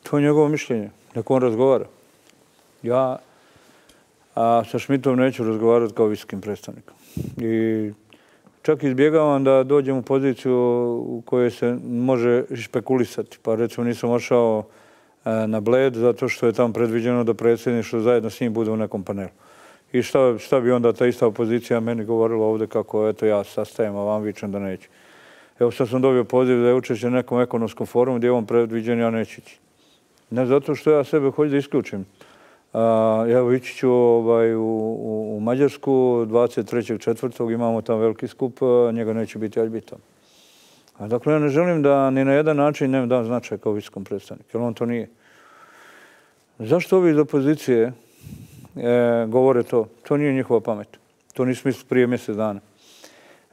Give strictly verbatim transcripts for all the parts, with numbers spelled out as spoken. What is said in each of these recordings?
To je njegovo mišljenje. Nek on razgovara. Ja a sa Šmitom neću razgovarati kao visokim predstavnikom. I čak izbjegavam da dođem u poziciju u kojoj se može špekulisati. Pa recimo nisam ošao na Bled zato što je tamo predviđeno da predsjedništvo zajedno s njim bude u nekom panelu. I šta, šta bi onda ta ista opozicija meni govorila ovdje kako eto ja sastajem, a vam vičem da neću. Evo sad sam dobio poziv da je učešće na nekom ekonomskom forumu gdje je on predviđen, ja neću ići. Ne zato što ja sebe hoću da isključim. A, evo ići ću ovaj, u, u, u Mađarsku dvadeset trećeg četvrtog imamo tamo veliki skup, njega neće biti, ja ću biti tamo. A dakle, ja ne želim da ni na jedan način ne dam značaj kao visokom predstavniku, jer on to nije. Zašto ovi iz opozicije e, govore to? To nije njihova pamet. To nisu mislili prije mjesec dana.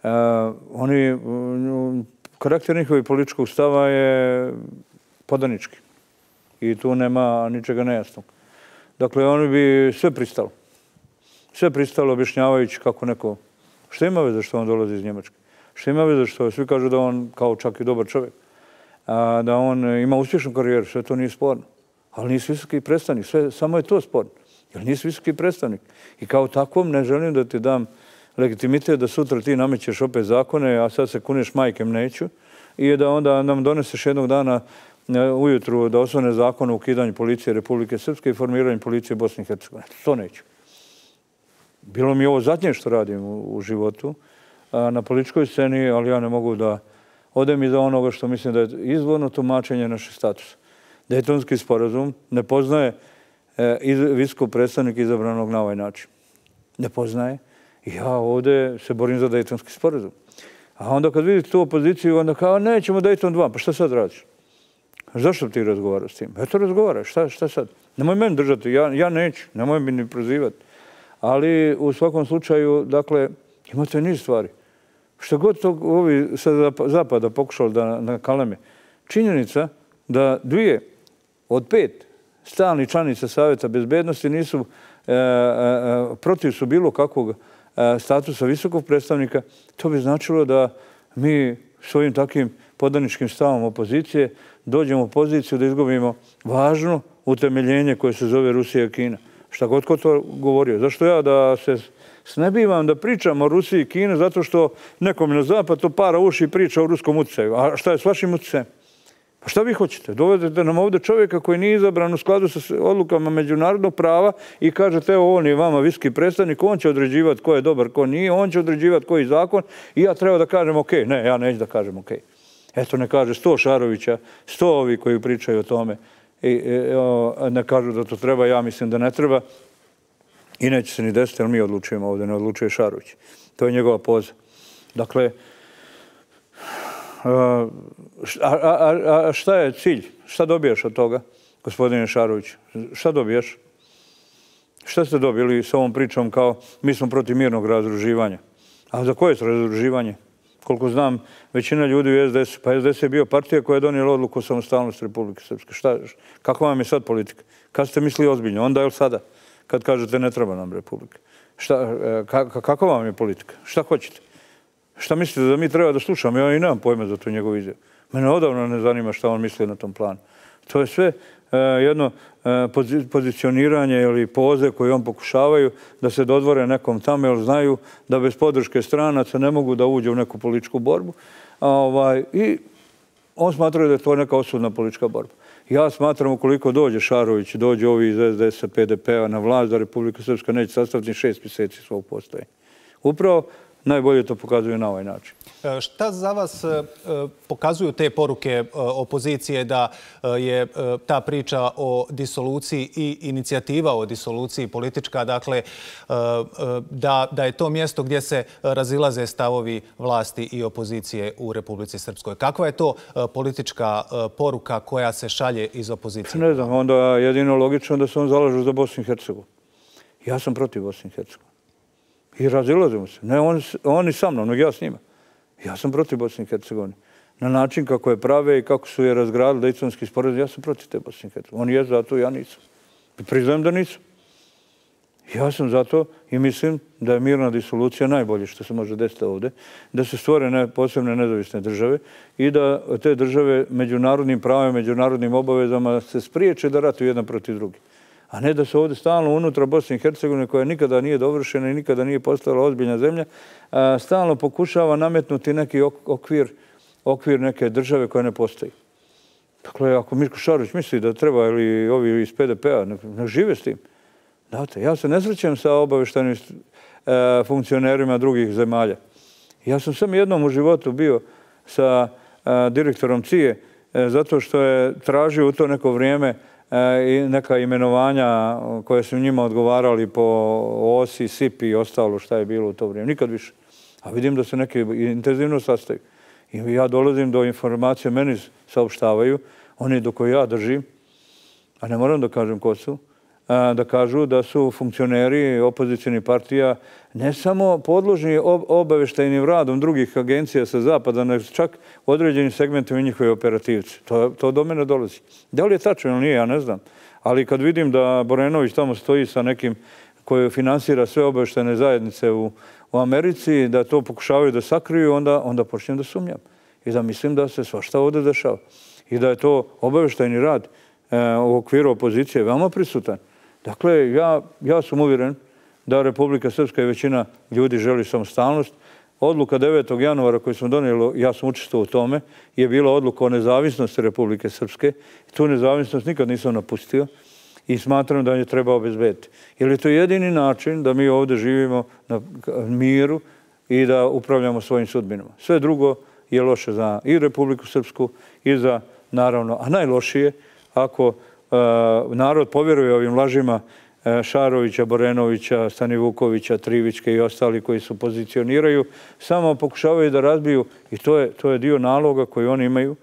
E, oni, karakter njihovih političkog stava je podanički. I tu nema ničega nejasnog. Dakle, oni bi sve pristalo. Sve pristalo objašnjavajući kako neko... Što ima veze što on dolazi iz Njemačke? Što ima veze što svi kažu da on kao čak i dobar čovjek, a, da on ima uspješnu karijeru, sve to nije sporno. Ali nisi visoki predstavnik, sve, samo je to sporno. Jer nisi visoki predstavnik. I kao takvom ne želim da ti dam legitimitet da sutra ti namećeš opet zakone, a sad se kuneš majkem neću, i da onda nam doneseš jednog dana ujutru da osvane zakon o ukidanju policije Republike Srpske i formiranju policije Bosne i Hercegovine. To neću. Bilo mi ovo zadnje što radim u, u životu na političkoj sceni, ali ja ne mogu da odem iza onoga što mislim da je izvorno tumačenje našeg statusa. Dejtonski sporazum ne poznaje e, iz, visokog predstavnika izabranog na ovaj način. Ne poznaje. I ja ovdje se borim za Dejtonski sporazum. A onda kad vidite tu opoziciju, onda kao nećemo Dejton dva, pa šta sad radiš? Zašto ti razgovaraš s tim? Eto razgovaraš, šta, šta sad? Nemoj meni držati, ja, ja neću, nemoj mi ni prozivati. Ali u svakom slučaju, dakle, imate niz stvari. Što god to ovi sa zapada pokušali da nakaleme. Činjenica da dvije od pet stalnih članica Savjeta bezbednosti nisu e, e, protiv su bilo kakvog e, statusa visokog predstavnika, to bi značilo da mi svojim takvim podaničkim stavom opozicije dođemo u poziciju da izgubimo važno utemeljenje koje se zove Rusija i Kina. Šta god ko to govorio. Zašto ja da se snebivam da pričam o Rusiji i Kini zato što nekom na zapad to para uši i priča o ruskom utjecaju. A šta je s vašim utjecajem? Pa šta vi hoćete? Dovedete nam ovdje čovjeka koji nije izabran u skladu sa odlukama međunarodnog prava i kažete evo on je vama viski predstavnik, on će određivati ko je dobar, ko nije, on će određivati koji zakon i ja treba da kažem ok. Ne, ja neću da kažem ok. Eto ne kaže sto Šarovića, sto ovi koji pričaju o tome i, i o, ne kažu da to treba, ja mislim da ne treba i neće se ni desiti, jer mi odlučujemo ovdje, ne odlučuje Šarović. To je njegova poza. Dakle, a, a, a šta je cilj? Šta dobijaš od toga, gospodine Šarović? Šta dobijaš? Šta ste dobili s ovom pričom kao mi smo protiv mirnog razdruživanja? A za koje je razdruživanje? Koliko znam, većina ljudi u S D S, pa S D S je bio partija koja je donijela odluku o samostalnosti Republike Srpske. Šta, kako vam je sad politika? Kad ste mislili ozbiljno? Onda ili sada? Kad kažete ne treba nam Republika. Šta, ka, kako vam je politika? Šta hoćete? Šta mislite da mi treba da slušamo? Ja i nemam pojma za tu njegovu izjavu. Mene odavno ne zanima šta on misli na tom planu. To je sve uh, jedno uh, pozicioniranje ili poze koje on pokušavaju da se dodvore nekom tamo, jer znaju da bez podrške stranaca ne mogu da uđe u neku političku borbu. A, ovaj, I on smatra da je to neka osudna politička borba. Ja smatram ukoliko dođe Šarović, dođe ovi iz S D S-a, P D P-a na vlast, da Republika Srpska neće sastaviti šest mjeseci svog postojenja. Upravo najbolje to pokazuju na ovaj način. Šta za vas pokazuju te poruke opozicije da je ta priča o disoluciji i inicijativa o disoluciji politička, dakle da, da je to mjesto gdje se razilaze stavovi vlasti i opozicije u Republici Srpskoj? Kakva je to politička poruka koja se šalje iz opozicije? Ne znam, onda jedino logično da se on zalažu za Bosnu i Hercegovinu. Ja sam protiv Bosne i Hercegovine. I razilazimo se. Ne oni, oni sa mnom, nego ja s njima. Ja sam protiv Bosne i Hercegovine. Na način kako je prave i kako su je razgradili Dejtonski sporazum, ja sam protiv te Bosne i Hercegovine. Oni je zato, ja nisam. I priznajem da nisam. Ja sam zato i mislim da je mirna disolucija najbolje što se može desiti ovdje, da se stvore posebne nezavisne države i da te države međunarodnim pravima, međunarodnim obavezama se spriječe da ratuju jedan protiv drugi. A ne da se ovdje stalno unutra Bosne i Hercegovine, koja nikada nije dovršena i nikada nije postala ozbiljna zemlja, stalno pokušava nametnuti neki okvir, okvir neke države koja ne postoji. Dakle, ako Mirko Šarović misli da treba ili ovi iz P D P-a, ne žive s tim. Znate, ja se ne srećem sa obavještajnim funkcionerima drugih zemalja. Ja sam samo jednom u životu bio sa direktorom C I E zato što je tražio u to neko vrijeme i neka imenovanja koje su njima odgovarali po O S I, S I P i ostalo šta je bilo u to vrijeme. Nikad više. A vidim da se neki intenzivno sastaju. I ja dolazim do informacije, meni saopštavaju, oni do koje ja držim, a ne moram da kažem ko su, da kažu da su funkcioneri opozicijnih partija ne samo podložni obavještajnim radom drugih agencija sa zapada, nego čak određenim segmentima njihove operativci. To, to do mene dolazi. Da li je tačno ili nije, ja ne znam. Ali kad vidim da Borenović tamo stoji sa nekim koji finansira sve obavještajne zajednice u, u Americi, da to pokušavaju da sakriju, onda, onda počnem da sumnjam. I da mislim da se svašta ovdje dešava. I da je to obavještajni rad e, u okviru opozicije veoma prisutan. Dakle, ja, ja sam uvjeren da Republika Srpska i većina ljudi želi samostalnost. Odluka devetog januara koju smo donijeli, ja sam učestvovao u tome, je bila odluka o nezavisnosti Republike Srpske. Tu nezavisnost nikad nisam napustio i smatram da je treba obezbediti. Jer je to jedini način da mi ovdje živimo na miru i da upravljamo svojim sudbinama. Sve drugo je loše za i Republiku Srpsku i za, naravno, a najlošije ako narod povjeruje ovim lažima Šarovića, Borenovića, Stanivukovića, Trivićke i ostali koji se pozicioniraju, samo pokušavaju da razbiju i to je, to je dio naloga koji oni imaju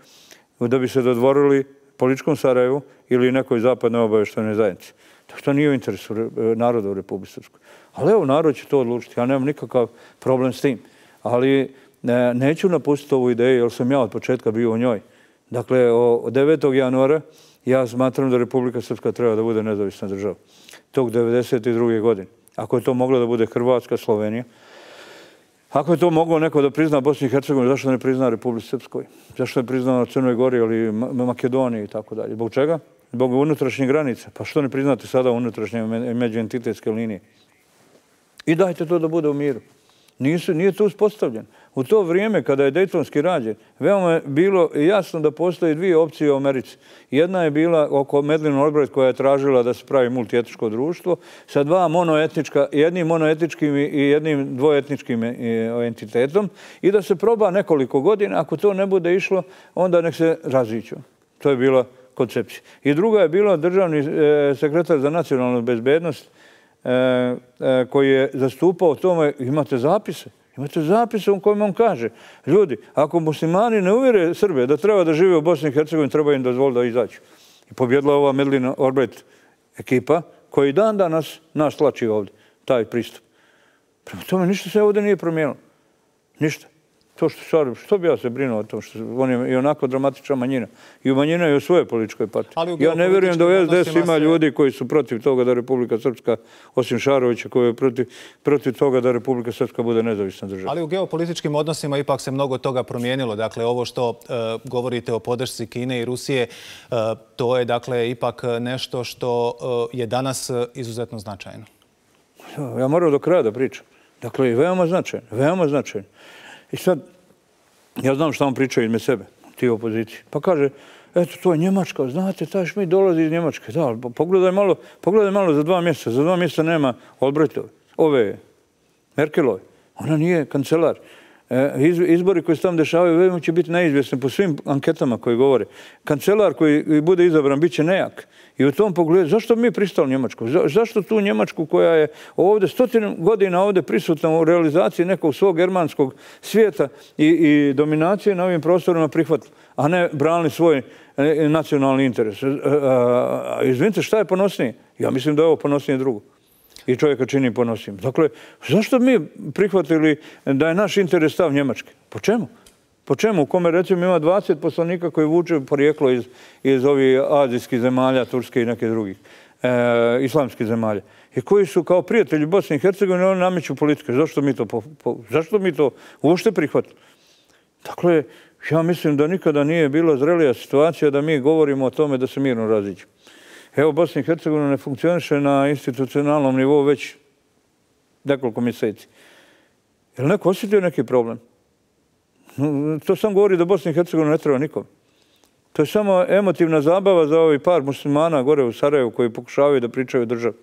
da bi se dodvorili političkom Sarajevu ili nekoj zapadnoj obavještajnoj zajednici. Tako to nije u interesu naroda u Republici Srpskoj. Ali evo, narod će to odlučiti. Ja nemam nikakav problem s tim. Ali ne, neću napustiti ovu ideju jer sam ja od početka bio u njoj. Dakle, od devetog januara ja smatram da Republika Srpska treba da bude nezavisna država. Tog devedeset druge godine. Ako je to moglo da bude Hrvatska, Slovenija, ako je to moglo neko da prizna Bosni i Hercegovini, zašto ne prizna Republici Srpskoj? Zašto ne prizna Crnoj Gori ili Makedoniji i tako dalje? Zbog čega? Zbog unutrašnjih granica. Pa što ne priznate sada unutrašnje međuentitetske linije? I dajte to da bude u miru. Nisu, nije to uspostavljeno. U to vrijeme, kada je Dejtonski rađen, veoma je bilo jasno da postoje dvije opcije u Americi. Jedna je bila oko Madeleine Albright koja je tražila da se pravi multietničko društvo sa dva monoetnička, jednim monoetničkim i jednim dvoetničkim entitetom i da se proba nekoliko godina. Ako to ne bude išlo, onda nek se raziđu. To je bila koncepcija. I druga je bila državni sekretar za nacionalnu bezbednost koji je zastupao tome, imate zapise. Imate zapise u kojem on kaže, ljudi, ako muslimani ne uvjere Srbe da treba da žive u Bosni i Hercegovini, treba im dozvoliti da izađu. I pobjedila ova Madeleine Albright ekipa koja i dan danas nas tlači ovdje, taj pristup. Prema tome ništa se ovdje nije promijenilo. Ništa. To što Šarović, što bi ja se brinuo o tom, što on je i onako dramatična manjina. I u manjina je u svojoj političkoj partiji. Ja ne vjerujem da u S D S ima ljudi koji su protiv toga da Republika Srpska, osim Šarovića, koji je protiv, protiv toga da Republika Srpska bude nezavisna država. Ali u geopolitičkim odnosima ipak se mnogo toga promijenilo. Dakle, ovo što uh, govorite o podršci Kine i Rusije, uh, to je dakle ipak nešto što uh, je danas izuzetno značajno. Ja moram do kraja da pričam. Dakle, veoma značajno, veoma značajno. I sad, ja znam šta on priča izme sebe, ti opozicije. Pa kaže, eto, to je Njemačka, znate, taj Šmit dolazi iz Njemačke. Da, pogledaj malo, pogledaj malo za dva mjeseca. Za dva mjeseca nema Albrightove, ove Merkelove. Ona nije kancelar. Izbori koji se tamo dešavaju veoma će biti neizvjesni po svim anketama koje govore. Kancelar koji bude izabran bit će nejak. I u tom pogledu, zašto mi pristali Njemačku? Zašto tu Njemačku koja je ovdje stotinu godina ovdje prisutna u realizaciji nekog svog germanskog svijeta i, i dominacije na ovim prostorima prihvatila, a ne branili svoj nacionalni interes? Izvinite, šta je ponosnije? Ja mislim da je ovo ponosnije drugo. I čovjeka čini ponosim. Dakle, zašto mi prihvatili da je naš interes stav Njemačke? Po čemu? Po čemu? U kome recimo ima dvadeset poslanika koji vuče porijeklo iz, iz ovih azijskih zemalja, Turske i neke drugih. islamskih zemalja i koji su kao prijatelji Bosne i Hercegovine, oni nameću politike. Zašto mi to, zašto mi to uopšte prihvatili? Dakle, ja mislim da nikada nije bila zrelija situacija da mi govorimo o tome da se mirno raziđemo. Evo, Bosna i Hercegovina ne funkcioniše na institucionalnom nivou već nekoliko mjeseci. Je li neko osjetio neki problem? To sam govori da Bosna i Hercegovina ne treba nikom. To je samo emotivna zabava za ovaj par muslimana gore u Sarajevu koji pokušavaju da pričaju o državi.